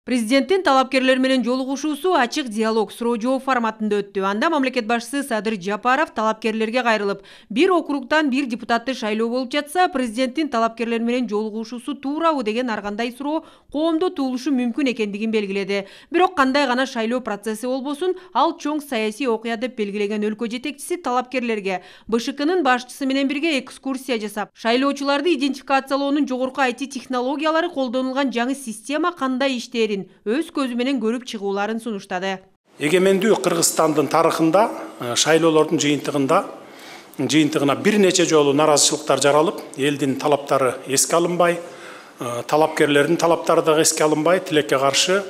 Президенттин талапкерлер менен жолугушуусу ачык диалог суроо жооп форматында өттү. Анда мамлекет башчысы Садыр Жапаров талапкерлерге кайрылып, бир округтан бир депутатты шайлоо болуп жатса, президенттин талапкерлер менен жолугушуусу туурабы деген ар кандай суроо коомдо туулушу мүмкүн экендигин белгиледи. Бирок кандай гана шайлоо процесси болбосун, ал чоң саясий окуя деп белгилеген өлкө жетекчиси талапкерлерге БШКнын башчысы менен бирге экскурсия жасап, шайлоочуларды идентификациялоонун жогорку IT технологиялары колдонулган жаңы система кандай иштерин өз көзү менен көрүп чыгууларын сунуштады. Эгемендүү Кыргызстандын тарыхында шайлоолордун жыйынтыгына бир нече жолу наразычылыктар жаралып, элдин талаптары эске алынбай, талапкерлердин талаптары да эске алынбай, тилекке каршы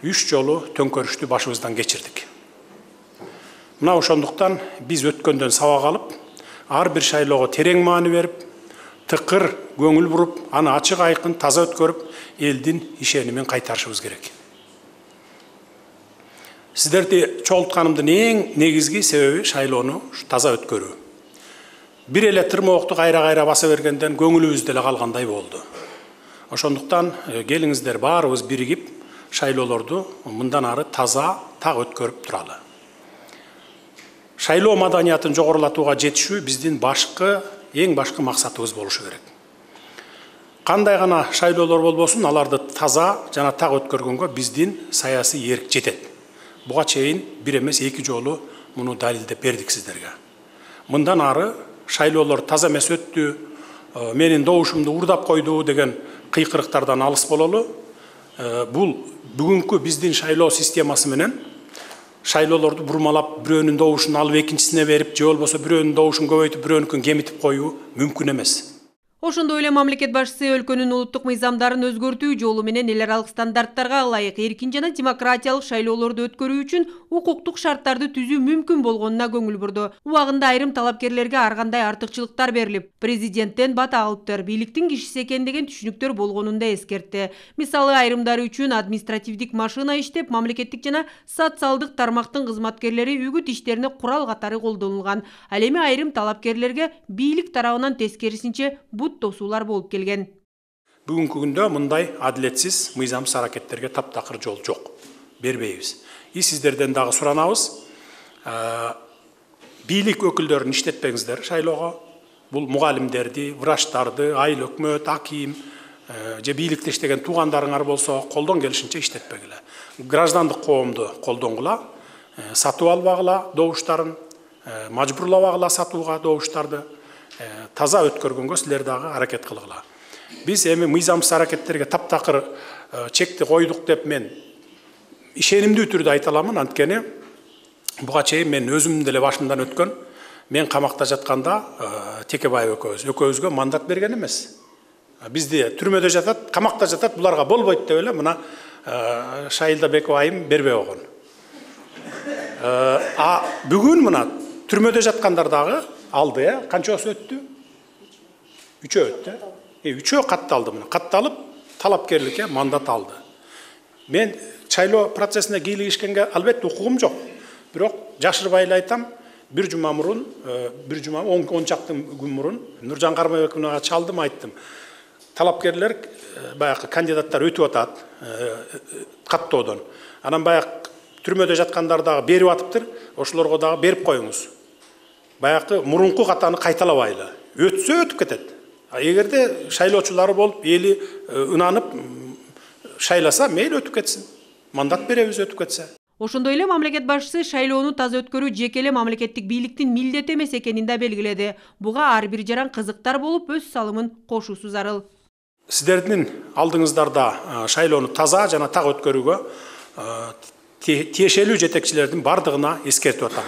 3 жолу төңкөрүштү башыбыздан кечирдик. Мына ошондуктан биз өткөндөн сабак алып, ар бир шайлоого терең маани берип, тыкыр көңүл буруп, аны ачык айкын таза өткөрүп, элдин ишенимин кайтарышыбыз керек. Сиздерди чогултканымдын эң негизги себеби шайлоону таза өткөрүү. Бир эле тырмоокты кайра баса бергенден көңүлүбүз деле калгандай болду. Ошондуктан келиңиздер баарыбыз биригип шайлоолорду мындан ары таза так өткөрүп туралы. Шайлоо маданиятын жогорулатууга жетишүү биздин эң башкы максатыбыз болушу керек. Кандай гана шайлоолор болбосун, аларды таза жана так өткөргөнгө биздин саясий эрк жетет. Буга чейин бир эмес 2 жолу муну далилдеп бердик сиздерге. Мындан ары шайлоолор таза эмес өттү, менин добушумду урдап койду деген кыйкырыктардан алыс бололу. Бул бүгүнкү биздин шайлоо системасы менен шайлоолорду бурмалап, бирөөнүн добушун алып экинчисине берип, же болбосо бирөөнүн добушун көбөйтүп, бирөөнүкүн кемитип коюу мүмкүн эмес. Ошондой эле мамлекет башчысы өлкөнүн улуттук мыйзамдарын өзгөртүү жолу менен эл аралык стандарттарга ылайык эркин жана демократиялык шайлоолорду өткөрүү үчүн укуктук шарттарды түзүү мүмкүн болгонуна көңүл бурду. Убагында айрым талапкерлерге ар кандай артыкчылыктар берилип, президенттен бата алыптыр, бийликтин кишиси экен деген түшүнүктөр болгонун да эскертти. Мисалы, айрымдары үчүн административдик машина иштеп, мамлекеттик жана социалдык тармактын кызматкерлери үгүт иштерине курал катары колдонулган. Ал эми айрым талапкерлерге бийлик тарабынан тескерисинче тосуулар болуп келген. Бүгүнкү күндө мындай адилетсиз, мыйзамсыз аракеттерге таптакыр жол жок. Бербейбиз. Сиздерден дагы суранабыз. Бийлик өкүлдөрүн иштетпеңиздер шайлоого. Бул мугалимдерди, врачтарды, айыл өкмөт, аким, же бийликте иштеген туугандарыңар болсо, колдон келишинче иштетпегиле. Граждандык коомду колдонгула, сатып албагыла добуштарын, мажбурлабагыла сатууга добуштарды. Таза өткөргөнгө силер дагы аракет кылгыла. Биз эми мыйзамсыз аракеттерге таптакыр чекти койдук деп мен ишенимдүү түрдө айта аламын. Анткени буга чейин мен өзүмдүн деле башымдан өткөн, мен камакта жатканда Текебаев экөөбүзгө мандат берген эмес. Бизди түрмөдө жатат, камакта жатат, буларга болбойт деп эле мына Шайылда Беков айым бербей койгон. Бүгүн мына түрмөдө жаткандар дагы алды, канчасы өттү? 3 өттү. 3 катталды мына. Катталып, талапкерликке мандат алды. Мен шайлоо процессине кийлигишкенге албетте укугум жок. Бирок жашырбай эле айтам, бир жума 10 чакты күн мурун Нуржан Кармабековага чалдым, айттым. Талапкерлер баягы кандидаттар өтүп атат каттоодон. Анан баягы түрмөдө жаткандар дагы берип атыптыр, ошолорго дагы берип коюңуз. Баягы мурунку катаны кайталабайлы. Өтсө өтүп кетет. Эгерде шайлоочулары болуп, эли ынанып шайласа, мейли өтүп кетсин. Мандат беребиз өтүп кетсе. Ошондой эле мамлекет башчысы шайлоону таза өткөрүү жеке эле мамлекеттик бийликтин милдети эмес экенин да белгиледи. Буга ар бир жаран кызыктар болуп, өз салымын кошуусу зарыл. Сиздердин алдыңыздарда шайлоону таза жана так өткөрүүгө тиешелүү жетекчилердин бардыгына эскертип атам.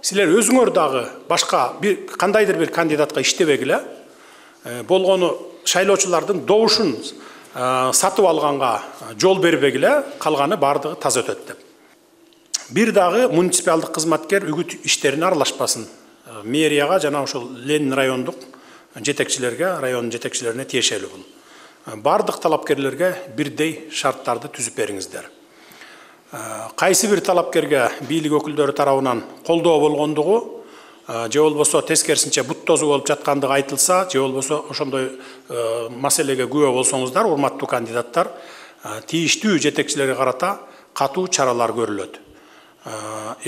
Силер өзүңөр дагы башка кандайдыр бир кандидатка иштебегиле, болгону шайлоочулардын добушун сатып алганга жол бербегиле, калганы бардыгы таза өтөт деп. Бир дагы муниципалдык кызматкер үгүт иштерине аралашпасын. Мэрияга жана ошол Ленин райондук жетекчилерге, район жетекчилерине тиешелүү бул. Бардык талапкерлерге бирдей шарттарды түзүп бериңиздер. Кайсы бир талапкерге бийлик өкүлдөрү тарабынан колдоо болгондугу, же болбосо тескерисинче бут тозу болуп жаткандыгы айтылса, же болбосо ошондой маселеге күбө болсоңуздар, урматтуу кандидаттар, тийиштүү жетекчилерге карата катуу чаралар көрүлөт.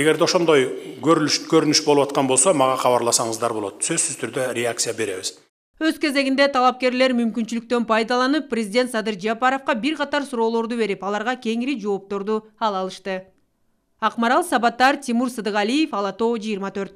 Эгерде ошондой көрүнүш болуп аткан болсо, мага кабарласаңыздар болот. Сөзсүз түрдө реакция беребиз. Өз кезегинде талапкерлер мүмкүнчүлүктөн пайдаланып, президент Садыр Жапаровго бир катар суроолорду берип, аларга кеңири жоопторду ала алышты. Акмарал Сабаттар, Тимур Сыдыгалиев, Ала Тоо 24.